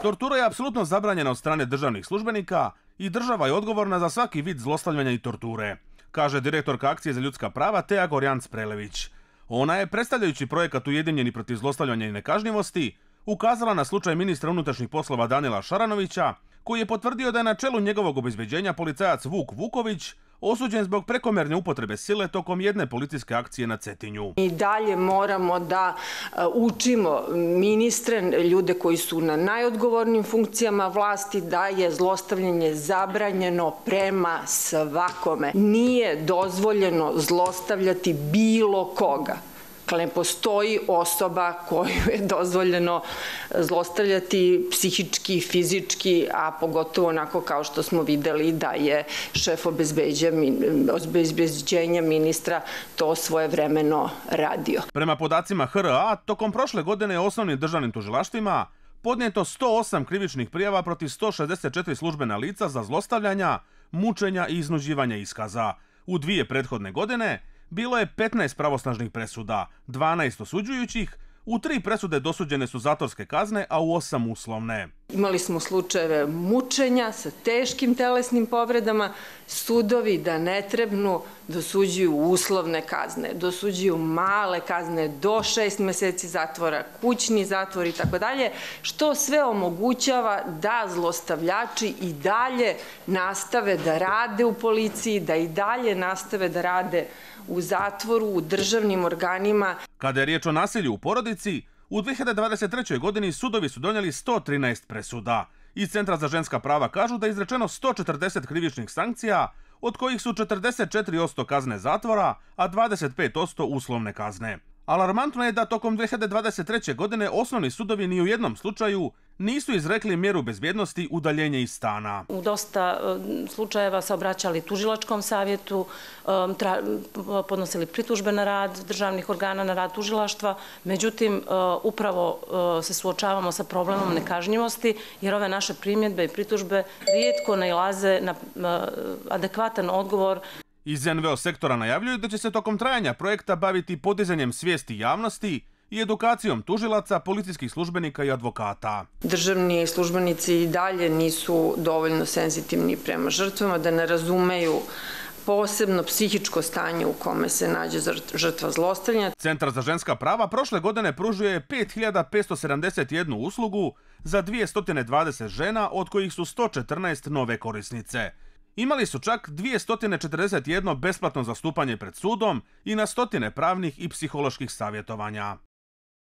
Tortura je apsolutno zabranjena od strane državnih službenika i država je odgovorna za svaki vid zlostavljanja i torture, kaže direktorka Akcije za ljudska prava Teja Gorjanc-Prelević. Ona je, predstavljajući projekat Ujedinjeni protiv zlostavljanja i nekažnjivosti, ukazala na slučaj ministra unutrašnjih poslova Danila Šaranovića, koji je potvrdio da je na čelu njegovog obezbeđenja policajac Vuk Vuković osuđen zbog prekomjerne upotrebe sile tokom jedne policijske akcije na Cetinju. I dalje moramo da učimo ministre, ljude koji su na najodgovornijim funkcijama vlasti, da je zlostavljanje zabranjeno prema svakome. Nije dozvoljeno zlostavljati bilo koga. Ne postoji osoba koju je dozvoljeno zlostavljati psihički, fizički, a pogotovo onako kao što smo videli da je šef obezbeđenja ministra to svojevremeno radio. Prema podacima HRA, tokom prošle godine je osnovnim državnim tužilaštvima podnijeto 108 krivičnih prijava protiv 164 službena lica za zlostavljanja, mučenja i iznuđivanja iskaza. U 2 prethodne godine bilo je 15 pravosnažnih presuda, 12 osuđujućih, u 3 presude dosuđene su zatvorske kazne, a u 8 uslovne. Imali smo slučajeve mučenja sa teškim telesnim povredama, sudovi da ne trebnu dosuđuju uslovne kazne, dosuđuju male kazne do 6 meseci zatvora, kućni zatvor i tako dalje, što sve omogućava da zlostavljači i dalje nastave da rade u policiji, da i dalje nastave da rade u zatvoru, u državnim organima. Kada je riječ o nasilju u porodici, u 2023. godini sudovi su donijeli 113 presuda. Iz Centra za ženska prava kažu da je izrečeno 140 krivičnih sankcija, od kojih su 44% kazne zatvora, a 25% uslovne kazne. Alarmantno je da tokom 2023. godine osnovni sudovi ni u jednom slučaju nisu izrekli mjeru bezbjednosti udaljenje iz stana. U dosta slučajeva se obraćali tužilačkom savjetu, podnosili pritužbe na rad državnih organa, na rad tužilaštva. Međutim, upravo se suočavamo sa problemom nekažnjivosti, jer ove naše primjedbe i pritužbe rijetko nailaze na adekvatan odgovor. Iz NVO sektora najavljuju da će se tokom trajanja projekta baviti podizanjem svijesti javnosti i edukacijom tužilaca, policijskih službenika i advokata. Državni službenici i dalje nisu dovoljno senzitivni prema žrtvama, da ne razumeju posebno psihičko stanje u kome se nađe žrtva zlostavljanja. Centar za ženska prava prošle godine pružuje 5571 uslugu za 220 žena, od kojih su 114 nove korisnice. Imali su čak 241 besplatno zastupanje pred sudom i na stotine pravnih i psiholoških savjetovanja.